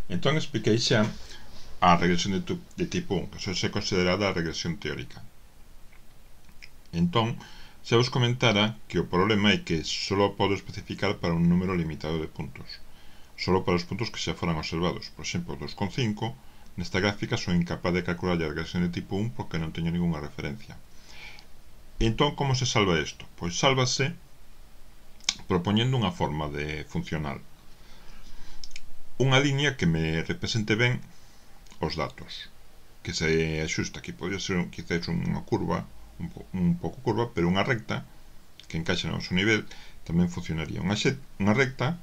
Entón expliquei xa a regresión de tipo 1, que só é considerada a regresión teórica. Entón, xa vos comentara que o problema é que só podo especificar para un número limitado de puntos, só para os puntos que xa foran observados. Por exemplo, 2,5 nesta gráfica son incapaz de calcular a regresión de tipo 1 porque non teño ninguna referencia. Entón, como se salva isto? Pois sálvase propoñendo unha forma de funcional, unha liña que me represente ben os datos, que se axusta. Aquí podría ser quizás unha curva, un pouco curva, pero unha recta que encaixa no noso nivel tamén funcionaría. Unha recta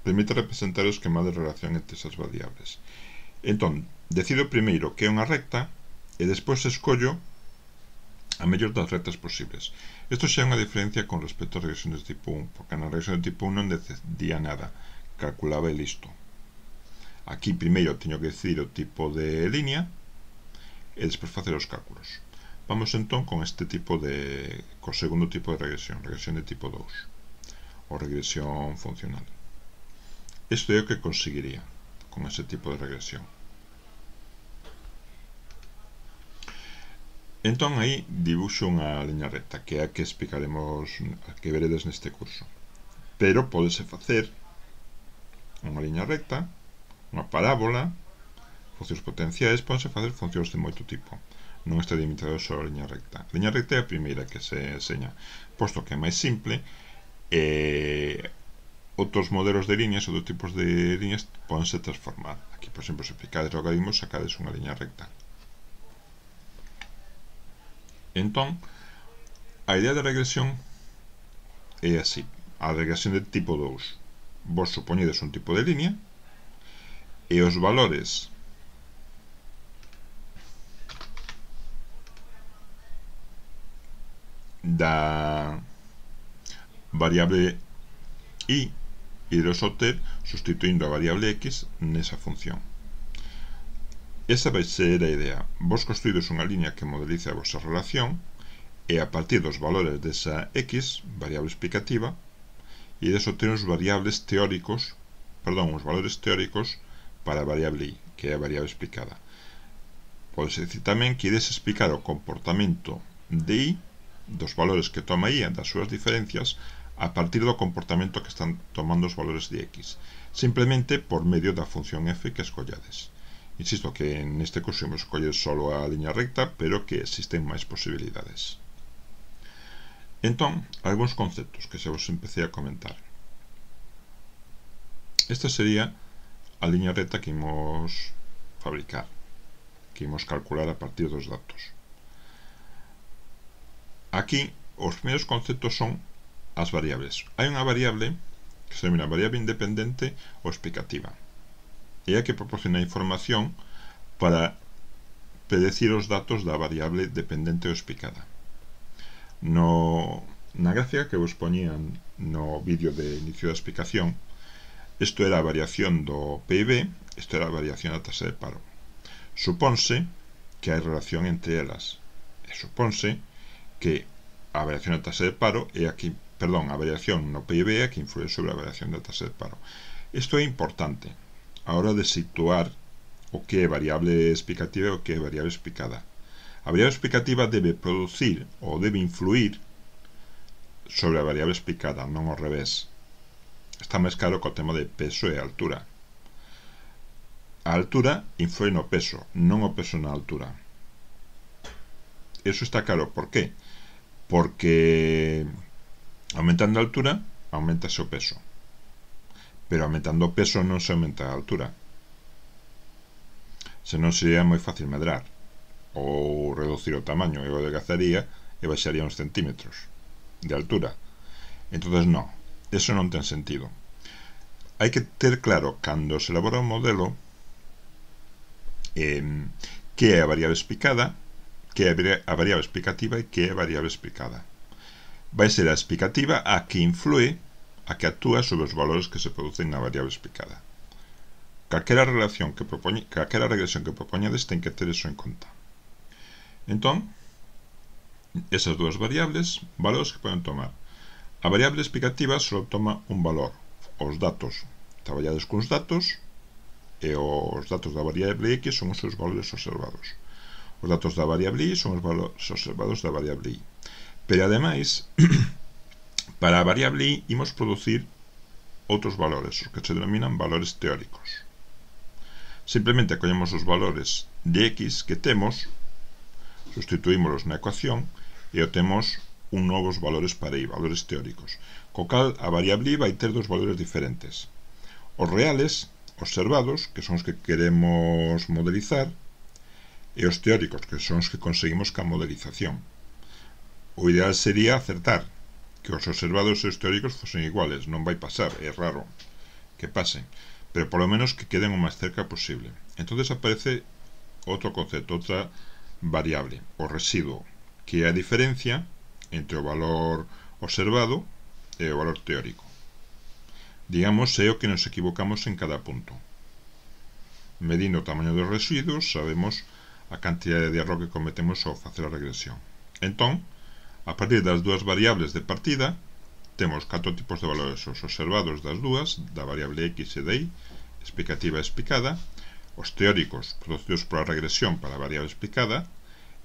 permite representar o esquema de relación entre esas variables. Entón, decido primeiro que é unha recta e despois escollo a mellor das rectas posibles. Isto xa é unha diferencia con respecto a regresións de tipo 1, porque na regresión de tipo 1 non decidía nada, calculaba e listo. Aquí primeiro teño que decidir o tipo de línea e despois facer os cálculos. Vamos entón con co segundo tipo de regresión de tipo 2, ou regresión funcional. Isto é o que conseguiría con ese tipo de regresión. Entón aí dibuxo unha liña recta, que é a que explicaremos, a que veredes neste curso. Pero pódese facer unha liña recta, unha parábola, funcións potenciais, pódense facer funcións de moito tipo. Non está limitado só a liña recta. A liña recta é a primeira que se enseña, posto que é máis simple, outros modelos de liñas, outros tipos de liñas pódense transformar. Aquí, por exemplo, se aplicades logaritmos, sacades unha liña recta. Entón, a idea de regresión é así. A regresión de tipo 2, vos supoñedes un tipo de liña e os valores da variable y iros obter sustituindo a variable x nesa función. Esa vai ser a idea. Vos construídes unha liña que modeliza a vosa relación e a partir dos valores desa x, variable explicativa, ides obter os valores teóricos para a variable y, que é a variable explicada. Pode decir tamén que ides explicar o comportamento de y, dos valores que toma y, das súas diferencias, a partir do comportamento que están tomando os valores de x, simplemente por medio da función f que escollades. Insisto que neste curso hemos escollido solo a liña recta, pero que existen máis posibilidades. Entón, algúns conceptos que xa vos empecé a comentar. Esta sería a liña recta que imos fabricar, que imos calcular a partir dos datos. Aquí, os primeiros conceptos son as variables. Hai unha variable que se denomina variable independente ou explicativa. É a que proporciona información para predecir os datos da variable dependente ou explicada. Na gráfica que vos poñían no vídeo de inicio da explicación, isto era a variación do PIB, isto era a variación da taxa de paro. Supónse que hai relación entre elas, e supónse que a variación da taxa de paro é a variación no PIB é a que influe sobre a variación da taxa de paro. Isto é importante a hora de situar o que é variable explicativa e o que é variable explicada. A variable explicativa debe producir ou debe influir sobre a variable explicada, non ao revés. Está máis claro co tema de peso e altura. A altura influe no peso, non o peso na altura. Eso está claro. Por qué? Porque aumentando a altura, aumentase o peso. Pero aumentando o peso non se aumenta a altura. Senón sería moi fácil medrar ou reducir o tamaño, eu adelgazaría e baixaría uns centímetros de altura. Entonces non, eso non ten sentido. Hai que ter claro cando se elabora un modelo que é a variable explicada, que é a variable explicativa e que é a variable explicada. Vai ser a explicativa a que influe, a que actúa sobre os valores que se producen na variable explicada. Calquera regresión que propoñades ten que ter eso en conta. Entón, esas dúas variables, valores que poden tomar. A variable explicativa só toma un valor, os datos traballades cuns datos, e os datos da variable x son os seus valores observados. Os datos da variable y son os valores observados da variable y. Pero ademais, para a variable y imos producir outros valores, os que se denominan valores teóricos. Simplemente collemos os valores de x que temos, sustituímoslos na ecuación e obtemos un novos valores para y, valores teóricos. Co cal, a variable y vai ter dos valores diferentes. Os reales, observados, que son os que queremos modelizar, e os teóricos, que son os que conseguimos ca modelización. O ideal sería acertar que os observados e os teóricos fosen iguales. Non vai pasar, é raro que pasen, pero polo menos que queden o máis cerca posible. Entonces aparece outro concepto, outra variable, o residuo, que é a diferencia entre o valor observado e o valor teórico. Digamos, é o que nos equivocamos en cada punto. Medindo o tamaño dos residuos, sabemos a cantidade de erro que cometemos ao facer a regresión. Entón, a partir das dúas variables de partida, temos 4 tipos de valores os observados das dúas, da variable x e de y, explicativa e explicada, os teóricos producidos pola regresión para a variable explicada,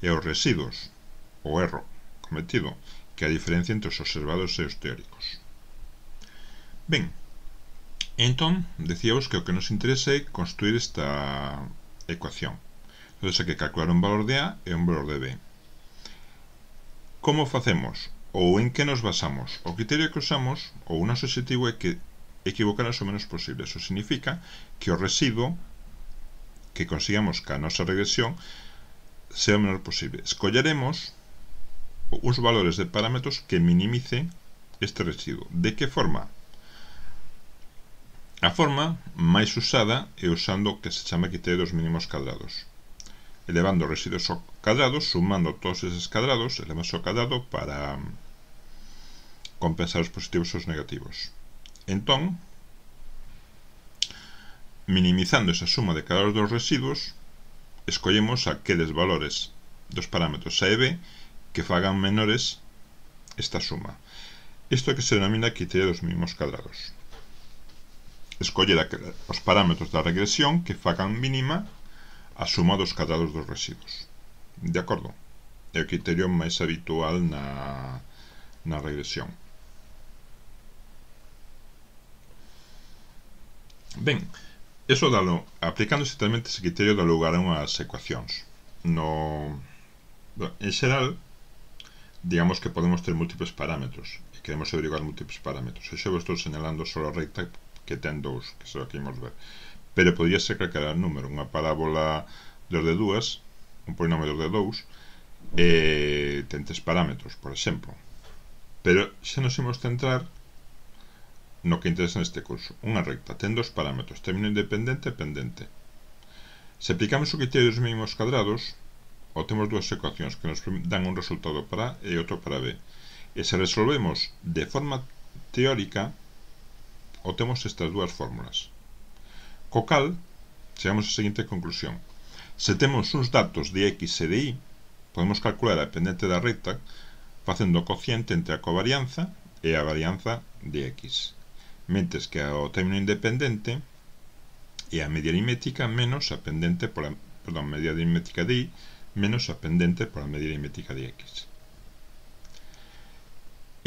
e os residuos, o erro cometido, que é a diferencia entre os observados e os teóricos. Ben, entón, decíamos que o que nos interesa é construir esta ecuación. Entón, hai que calcular un valor de a e un valor de b. Como facemos? Ou en que nos basamos? O criterio que usamos, ou o noso objetivo, é que equivocarnos o menos posible. Eso significa que o residuo que consigamos ca nosa regresión sea o menor posible. Escolleremos uns valores de parámetros que minimicen este residuo. De que forma? A forma máis usada é usando o que se chama criterio dos mínimos cadrados, elevando os residuos ao cadrado, sumando todos eses cadrados, elevamos ao cadrado para compensar os positivos e os negativos. Entón, minimizando esa suma de cadrados dos residuos, escollemos aqueles valores dos parámetros a e b que fagan menores esta suma. Isto é que se denomina criterio dos mínimos cadrados. Escoller os parámetros da regresión que fagan mínima a suma dos cadrados dos residuos. De acordo? É o criterio máis habitual na regresión. Ben, eso dalo, aplicando exactamente ese criterio dá lugar a unhas ecuacións. En xeral, digamos que podemos ter múltiples parámetros e queremos averiguar múltiples parámetros. E xa vos estou señalando só a recta que ten dous, que será que imos ver. Pero podría ser calquera número, unha parábola de dúas, un polinomio de 2, ten 3 parámetros, por exemplo. Pero xa nos imos centrar no que interesa neste curso. Unha recta ten 2 parámetros, término independente e pendente. Se aplicamos o criterio dos mínimos cadrados, obtemos dúas ecuacións que nos dan un resultado para A e outro para B. E se resolvemos de forma teórica, obtemos estas dúas fórmulas. Co cal, chegamos á seguinte conclusión. Se temos uns datos de x e de y, podemos calcular a pendente da recta facendo o cociente entre a covarianza e a varianza de x, mentes que o término independente e a media aritmética menos a pendente pola, media aritmética de y menos a pendente pola media aritmética de x.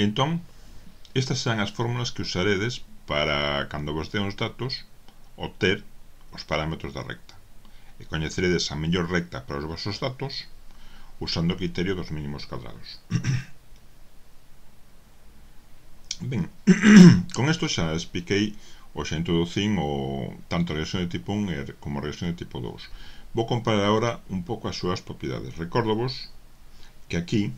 Entón, estas serán as fórmulas que usaredes para, cando vos den os datos, obter os parámetros da recta. E coñeceredes a mellor recta para os vosos datos usando o criterio dos mínimos cadrados. Ben, con isto xa expliquei ou xa introducín tanto a regresión de tipo 1 como a regresión de tipo 2. Vou comparar agora un pouco as súas propiedades. Recórdovos que aquí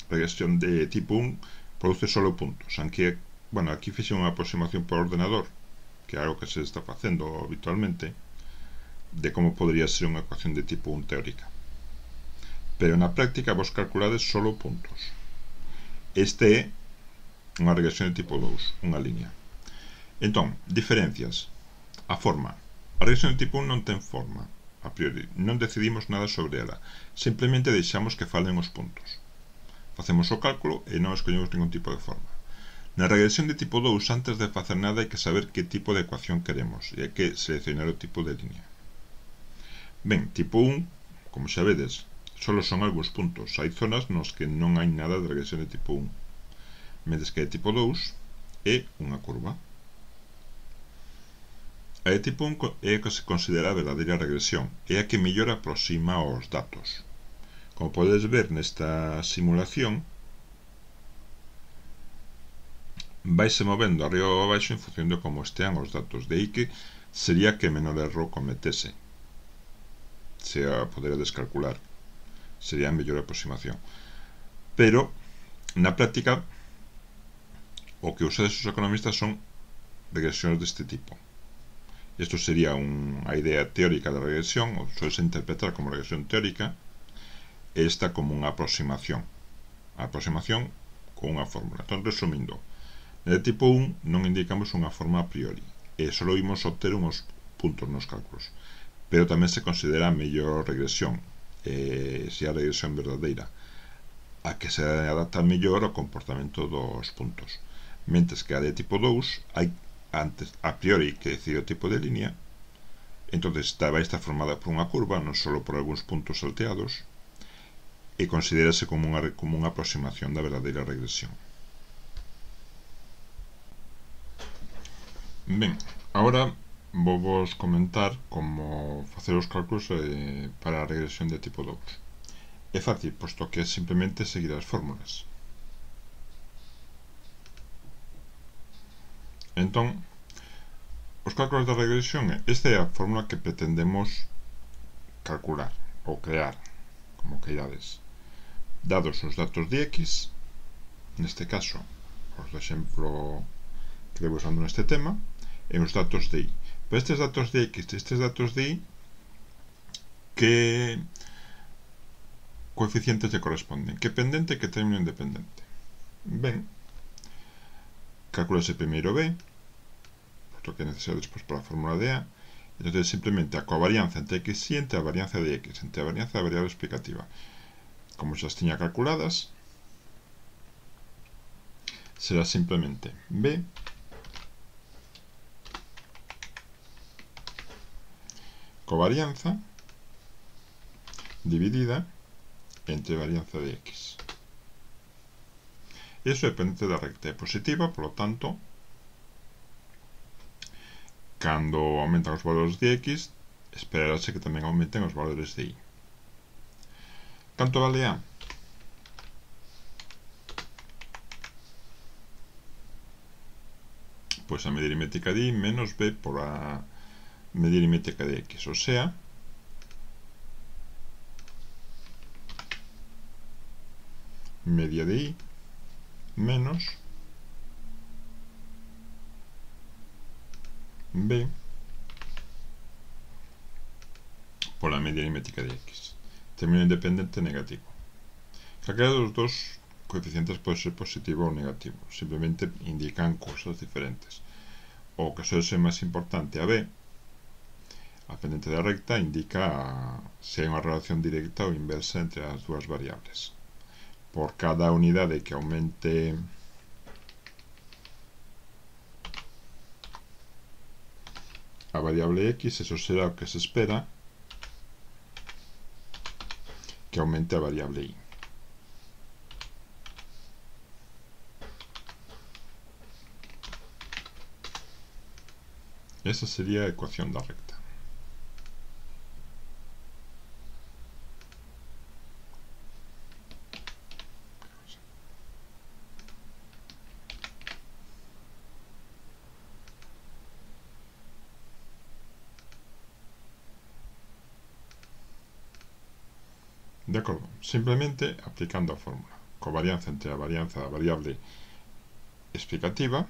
a regresión de tipo 1 produce solo puntos, aunque, bueno, aquí fixe unha aproximación por ordenador, que é algo que se está facendo habitualmente, de como podría ser unha ecuación de tipo 1 teórica. Pero na práctica vos calculades solo puntos. Este é unha regresión de tipo 2, unha línea. Entón, diferencias. A forma. A regresión de tipo 1 non ten forma, a priori. Non decidimos nada sobre ela. Simplemente deixamos que falen os puntos. Facemos o cálculo e non escollemos ningún tipo de forma. Na regresión de tipo 2, antes de facer nada, hai que saber que tipo de ecuación queremos e hai que seleccionar o tipo de línea. Ben, tipo 1, como xa vedes, só son algúns puntos. Hai zonas nos que non hai nada de regresión de tipo 1. Mentres que de tipo 2 é unha curva. A de tipo 1 é a que se considera a verdadeira regresión, é a que mellor aproxima os datos. Como podes ver nesta simulación, vaise movendo arriba ou abaixo en función de como estean os datos. De aí que sería que menor erro cometese, se a poder descalcular, sería a mellor aproximación. Pero na práctica o que usades os economistas son regresións deste tipo. Isto sería a idea teórica da regresión, ou suele interpretar como regresión teórica, e esta como unha aproximación. A aproximación con unha fórmula. Entón, resumindo, de tipo 1 non indicamos unha forma a priori, e só imos obter uns puntos nos cálculos. Pero tamén se considera a mellor regresión, se a regresión verdadeira, a que se adapta mellor ao comportamento dos puntos. Mentres que a de tipo 2 hai antes a priori que decide o tipo de línea, entonces vai estar formada por unha curva, non só por algúns puntos salteados, e considérase como unha aproximación da verdadeira regresión. Ben, agora vou vos comentar como facer os cálculos para a regresión de tipo 2. É fácil, posto que é simplemente seguir as fórmulas. Entón, os cálculos da regresión, esta é a fórmula que pretendemos calcular ou crear, como queirades. Dados os datos de x, neste caso, os do exemplo que levo usando neste tema, e os datos de y. Pero estes datos de x e estes datos de y, que coeficientes lle corresponden? Que pendente e que término independente? Ben, calculase primeiro b, lo que é necesario despois para a fórmula de a, entonces simplemente a covarianza entre x y entre a varianza de x, entre a varianza da variable explicativa. Como xa as tiña calculadas, será simplemente b covarianza dividida entre varianza de x. Iso é pendente da recta, é positiva, polo tanto, cando aumentan os valores de x, esperarase que tamén aumenten os valores de y. Canto vale a? Pois a medida aritmética de y menos b por a medida aritmética de x, o sea, media de y menos b pola media aritmética de x. Término independente negativo. Calquera dos dos coeficientes pode ser positivo ou negativo, simplemente indican cousas diferentes. O que suele ser máis importante, a b, a pendente da recta, indica se hai unha relación directa ou inversa entre as dúas variables. Por cada unidade que aumente a variable x, eso será o que se espera que aumente a variable y. Esa sería a ecuación da recta. De acordo, simplemente aplicando a fórmula. Covarianza entre a varianza da variable explicativa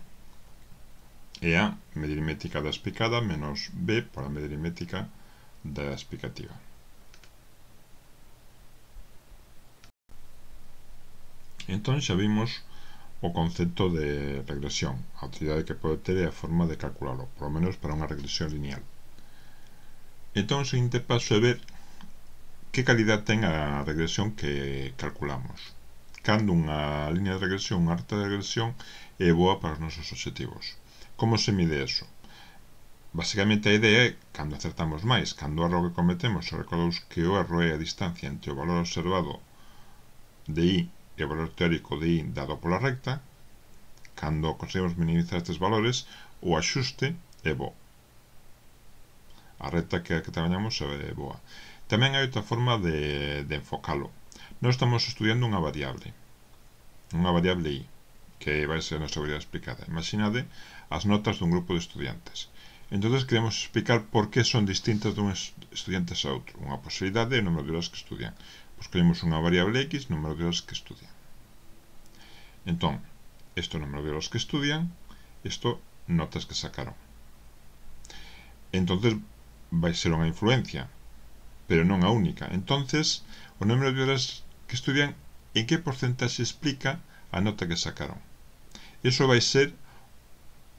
e a medida aritmética da explicada menos b por a medida aritmética da explicativa. Entón xa vimos o concepto de regresión, a utilidade que pode ter é a forma de calcularlo, por lo menos para unha regresión lineal. Entón o seguinte paso é ver que calidad ten a regresión que calculamos, cando unha liña de regresión, unha reta de regresión é boa para os nosos obxectivos. Como se mide eso? Basicamente a idea é cando acertamos máis, cando o erro que cometemos, recordaos que o erro é a distancia entre o valor observado de I e o valor teórico de I dado pola recta. Cando conseguimos minimizar estes valores, o axuste é bo. A recta que trabalhamos é boa. Tamén hai outra forma de enfocalo. Nós estamos estudiando unha variable I, que vai ser a nosa variable explicada. Imaginade as notas dun grupo de estudiantes. Entonces queremos explicar por que son distintas dun estudiantes a outro. Unha posibilidade é o número de horas que estudian. Pois queremos unha variable X, número de horas que estudian. Entón, isto número de horas que estudian, isto notas que sacaron. Entonces vai ser unha influencia, pero non a única. Entonces, o número de horas que estudian, en que porcentaxe explica a nota que sacaron? Iso vai ser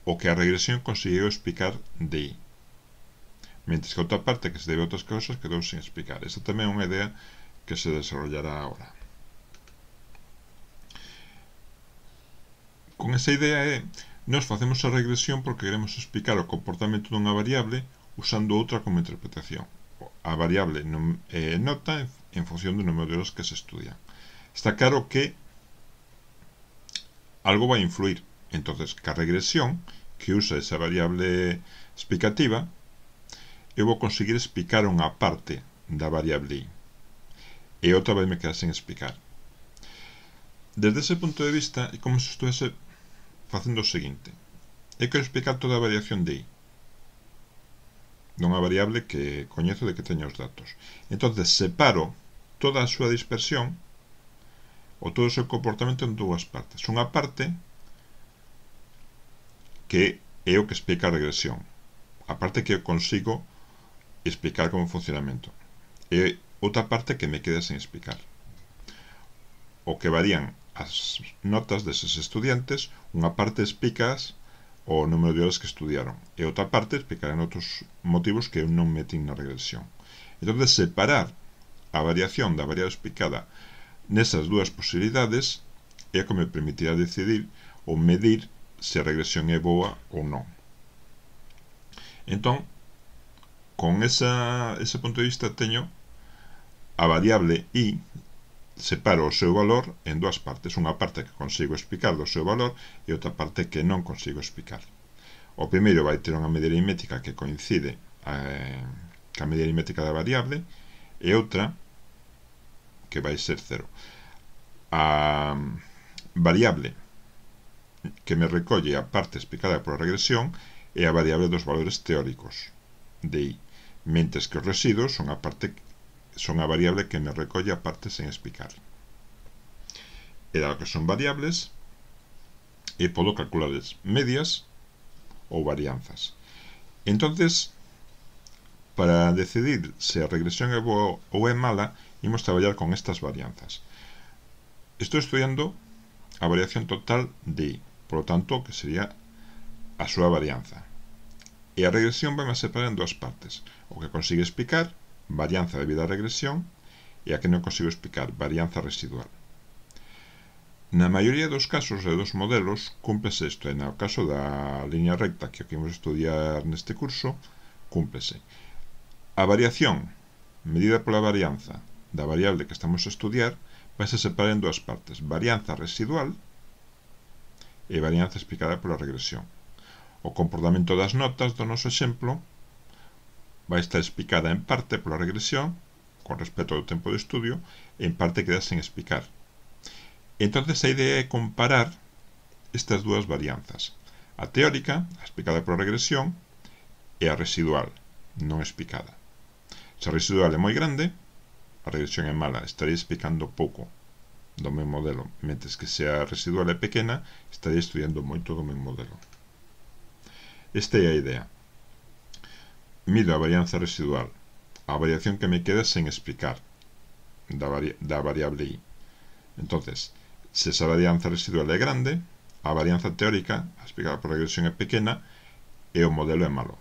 o que a regresión conseguiu explicar de I, mentres que a outra parte que se debe a outras cousas quedou sin explicar. Esta tamén é unha idea que se desarrollará agora. Con esa idea é, nós facemos a regresión porque queremos explicar o comportamento dunha variable usando outra como interpretación. A variable nota en función do número de horas que se estudian. Está claro que algo vai influir. Entonces, ca regresión, que usa esa variable explicativa, eu vou conseguir explicar unha parte da variable I. E outra vai me quedar sen explicar. Desde ese punto de vista, é como se estuvese facendo o seguinte. Eu quero explicar toda a variación de I, dunha variable que coñezo de que teño os datos. Entonces, separo toda a súa dispersión ou todo o seu comportamento en dúas partes. Unha parte que é o que explica a regresión, a parte que eu consigo explicar como funcionamento, e outra parte que me queda sen explicar, o que varían as notas deses estudiantes. Unha parte explicas o número de horas que estudiaron e outra parte explicarán outros motivos que eu non metín na regresión. Entón, separar a variación da variable explicada nesas dúas posibilidades é o que me permitirá decidir ou medir se a regresión é boa ou non. Entón, con ese punto de vista teño a variable I, separo o seu valor en dúas partes. Unha parte que consigo explicar do seu valor e outra parte que non consigo explicar. O primeiro vai ter unha medida aritmética que coincide ca medida aritmética da variable e outra que vai ser cero. A variable que me recolle a parte explicada pola regresión é a variable dos valores teóricos de I, mentres que os residuos son a variable que me recolle a parte sen explicar. E dado que son variables, podo calcular medias ou varianzas. Entonces, para decidir se a regresión é boa ou é mala, imos traballar con estas varianzas. Estou estudiando a variación total de I, por lo tanto, que sería a súa varianza. E a regresión vai a separar en dúas partes. O que consigue explicar, varianza debido á regresión, e a que non consigo explicar, varianza residual. Na maioría dos casos e dos modelos, cúmplese isto, e no caso da liña recta que imos estudiar neste curso, cúmplese. A variación medida pola varianza da variable que estamos a estudiar vai se separar en dúas partes, varianza residual e varianza explicada pola regresión. O comportamento das notas do noso exemplo vai estar explicada en parte pola regresión con respecto ao tempo de estudio e en parte queda sen explicar. Entonces a idea é comparar estas dúas varianzas, a teórica, a explicada pola regresión, e a residual, non explicada. Se a residual é moi grande, a regresión é mala, estaría explicando pouco do meu modelo, mentres que se a residual é pequena, estaría estudiando moito do meu modelo. Esta é a idea. Mido a varianza residual, a variación que me queda sen explicar da variable I. Entonces, se esa varianza residual é grande, a varianza teórica, a explicada por regresión, é pequena e o modelo é malo.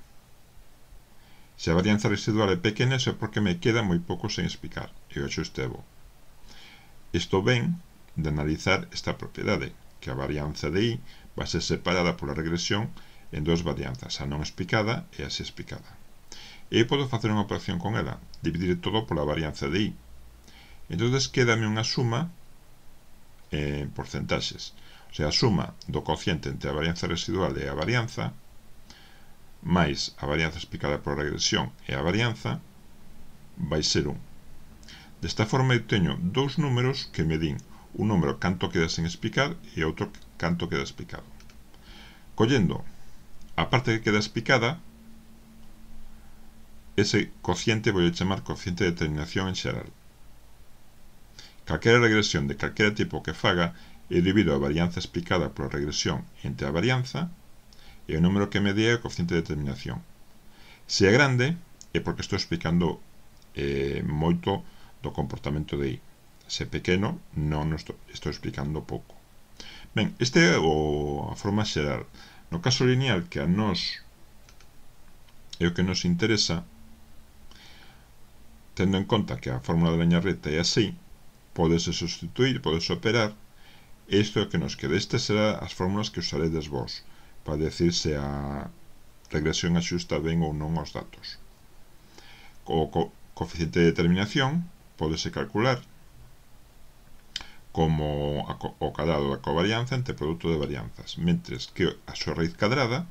Se a varianza residual é pequena, é porque me queda moi pouco sen explicar e o axuste é bo. Isto ven de analizar esta propiedade, que a varianza de I vai ser separada pola regresión en dúas varianzas, a non explicada e a si explicada. E eu podo facer unha operación con ela, dividir todo pola varianza de I. Entonces quédame unha suma en porcentaxes, o sea, a suma do cociente entre a varianza residual e a varianza, máis a varianza explicada pola regresión e a varianza, vai ser 1. Desta forma eu teño dous números que me din un número canto queda sen explicar e outro canto queda explicado. Collendo a parte que queda explicada, ese cociente vou chamar cociente de determinación en xeral. Calquera regresión de calquera tipo que faga, eu divido a varianza explicada pola regresión entre a varianza e o número que me dé é o cociente de determinación. Se é grande, é porque estou explicando moito do comportamento de I. Se é pequeno, non estou explicando pouco. Ben, esta é a forma xeral. No caso lineal, que a nós é o que nos interesa, tendo en conta que a fórmula de liña recta é así, podese substituir, podese operar, e isto é o que nos queda. Estas serán as fórmulas que usaredes vos para decir se a regresión axusta ben ou non aos datos. O coeficiente de determinación podese calcular como o cadrado da covarianza entre produto de varianzas, mentres que a súa raíz cadrada,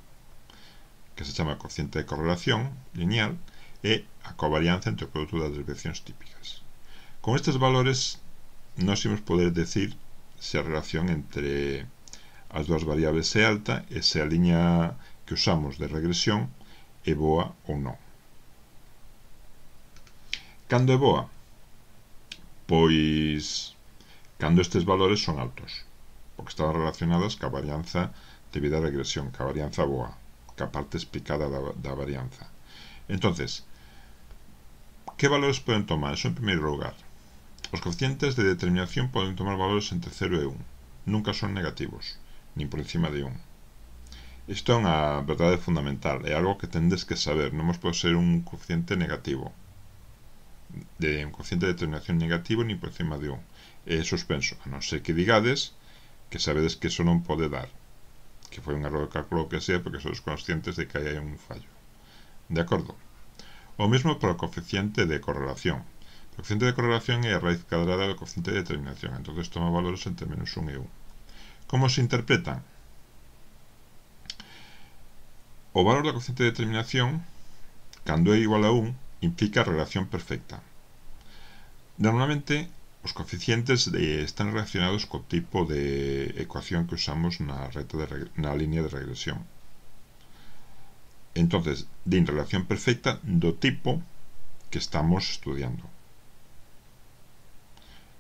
que se chama cociente de correlación lineal, é a covarianza entre o produto das desviacións típicas. Con estes valores nós imos poder decir se a relación entre as dúas variables é alta e se a liña que usamos de regresión é boa ou non. Cando é boa? Pois cando estes valores son altos, porque están relacionados ca varianza debido á regresión, ca varianza boa, ca parte explicada da varianza. Entonces, que valores poden tomar? Eso en primeiro lugar. Os coeficientes de determinación poden tomar valores entre 0 e 1. Nunca son negativos, nin por encima de 1. Isto é unha verdade fundamental, é algo que tendes que saber. Non pode ser un coeficiente negativo, un coeficiente de determinación negativo nin por encima de 1. É suspenso, a non ser que digades que sabedes que eso non pode dar, que foi un erro de cálculo que sea, porque sois conscientes de que hai un fallo. De acordo? O mesmo para o coeficiente de correlación. O coeficiente de correlación é a raíz cadrada do coeficiente de determinación, entonces toma valores entre menos 1 e 1. Como se interpretan? O valor do coeficiente de determinación, cando é igual a 1, implica relación perfecta. Normalmente, os coeficientes están relacionados co tipo de ecuación que usamos na línea de regresión. Entonces, din relación perfecta do tipo que estamos estudiando.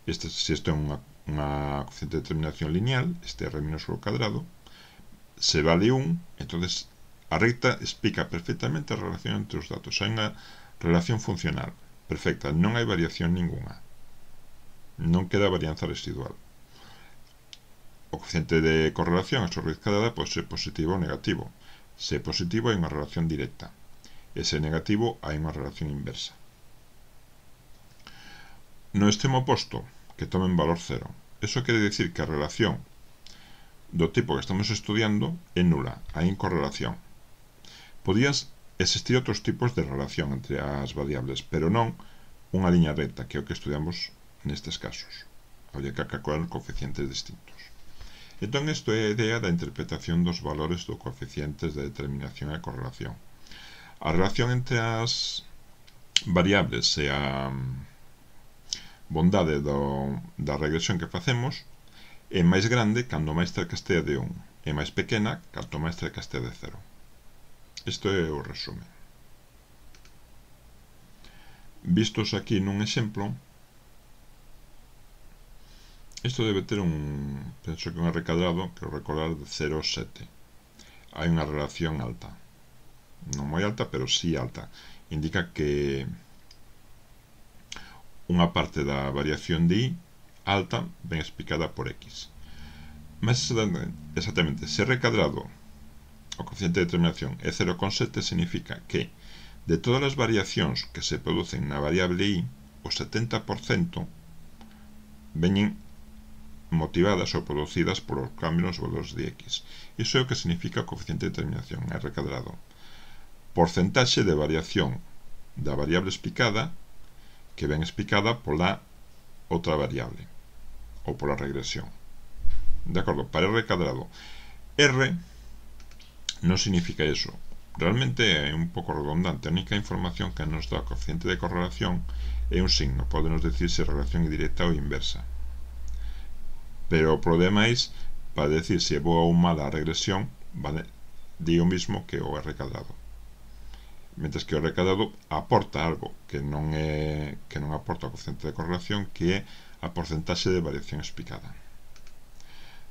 Se isto é unha coeficiente de determinación lineal, este R menos o cadrado, se vale 1, entonces a recta explica perfectamente a relación entre os datos. Hai unha relación funcional perfecta, non hai variación ninguna. Non queda varianza residual. O coeficiente de correlación, a súa raíz cadrada, pode ser positivo ou negativo. Se é positivo, hai unha relación directa. E se é negativo, hai unha relación inversa. No extremo oposto, que tomen valor 0. Eso quere dicir que a relación do tipo que estamos estudiando é nula, hai incorrelación. Podían existir outros tipos de relación entre as variables, pero non unha liña recta, que é o que estudiamos nestes casos. Habría que calcular coeficientes distintos. Entón, isto é a idea da interpretación dos valores dos coeficientes de determinación e correlación. A relación entre as variables e a bondade da regresión que facemos é máis grande cando máis cerca estea de 1, e máis pequena canto máis cerca estea de 0. Isto é o resumen. Vistos aquí nun exemplo, isto debe ter penso que un recadrado, quero recordar, de 0 a 7. Hai unha relación alta. Non moi alta, pero sí alta. Indica que unha parte da variación de I alta ben explicada por X. Mas exactamente, se recadrado o coeficiente de determinación é 0,7, significa que de todas as variacións que se producen na variable I, o 70% veñen motivadas ou producidas polos cambios nos valores de x. Iso é o que significa o coeficiente de determinación, R cadrado. Porcentaxe de variación da variable explicada que ven explicada pola outra variable ou pola regresión. De acordo, para R cadrado. R non significa eso. Realmente é un pouco redundante. A única información que nos dá o coeficiente de correlación é un signo. Podenos decir se a relación é directa ou inversa. Pero o problema é para decir se é boa ou mala a regresión, vale, di o mismo que o R cadrado. Mentres que o R cadrado aporta algo que non aporta o coeficiente de correlación, que é a porcentaxe de variación explicada.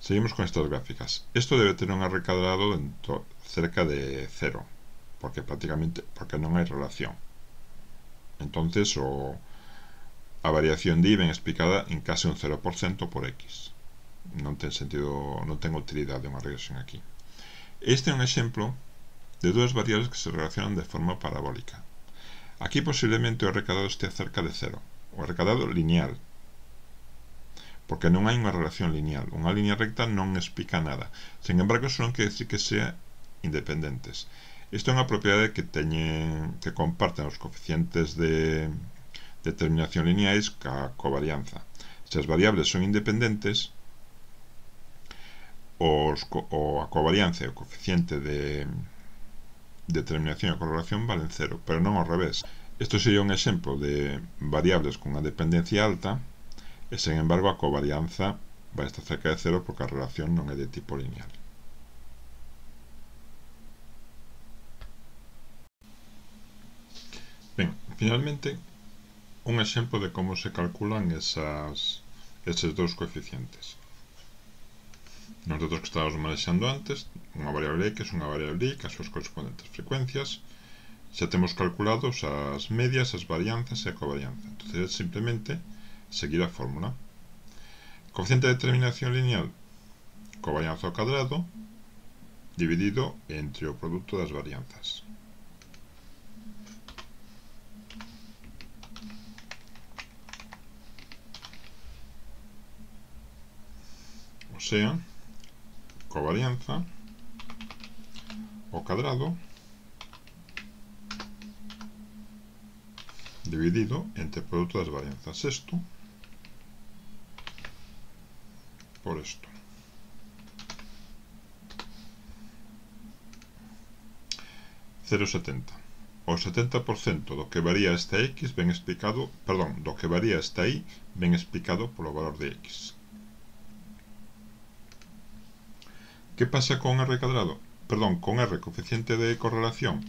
Seguimos con estas gráficas. Isto debe ter un R cadrado cerca de 0, porque non hai relación. Entonces a variación de I ven explicada en case un 0% por X. Non ten sentido, non ten utilidade unha regresión aquí. Este é un exemplo de dúas variables que se relacionan de forma parabólica. Aquí posiblemente o R cadrado estea cerca de 0. O R cadrado lineal, porque non hai unha relación lineal. Unha línea recta non explica nada. Sen embargo, iso non quere decir que sea independentes. Isto é unha propiedade que comparten os coeficientes de determinación lineais ca covarianza. Se as variables son independentes, a covarianza e o coeficiente de determinación e correlación valen 0, pero non ao revés. Isto sería un exemplo de variables con unha dependencia alta e, sen embargo, a covarianza vai estar cerca de 0 porque a relación non é de tipo lineal. Ben, finalmente, un exemplo de como se calculan eses dous coeficientes. Nos datos que estábamos manexando antes, unha variable x, unha variable y, as súas correspondentes frecuencias, xa temos calculados as medias, as varianzas e a covarianza. Entón, é simplemente seguir a fórmula. Coeficiente de determinación lineal, covarianza ao cadrado, dividido entre o produto das varianzas. O sea, covarianza ao cadrado dividido entre o produto das varianzas. Isto por isto. Cero 70. O 70% do que varía esta x ben explicado, do que varía esta y ben explicado polo valor de x. Que pasa con R cadrado? Con R coeficiente de correlación.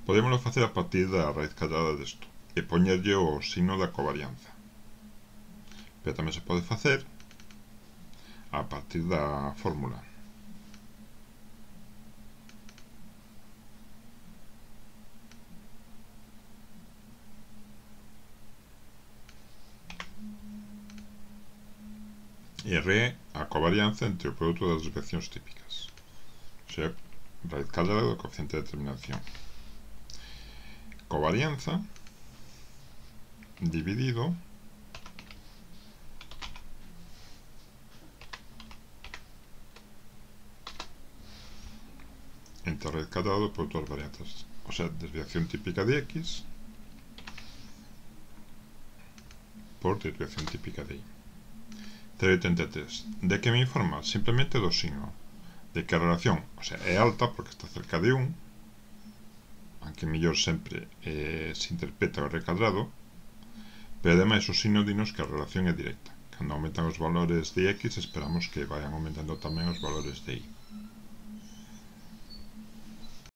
Podémoslo facer a partir da raíz cadrada desto e poñerlle o signo da covarianza. Pero tamén se pode facer a partir da fórmula. E R é a covarianza entre o produto das desviacións típicas. O sea, raíz cadrada do coeficiente de determinación. Covarianza dividido entre a raíz cadrada do produto das varianzas. O sea, desviación típica de x por desviación típica de y. 0,83. De que me informa? Simplemente do signo. De que a relación, é alta porque está cerca de 1, aunque mellor sempre se interpreta o R cadrado, pero ademais o signo dinos que a relación é directa. Cando aumentan os valores de x, esperamos que vayan aumentando tamén os valores de y.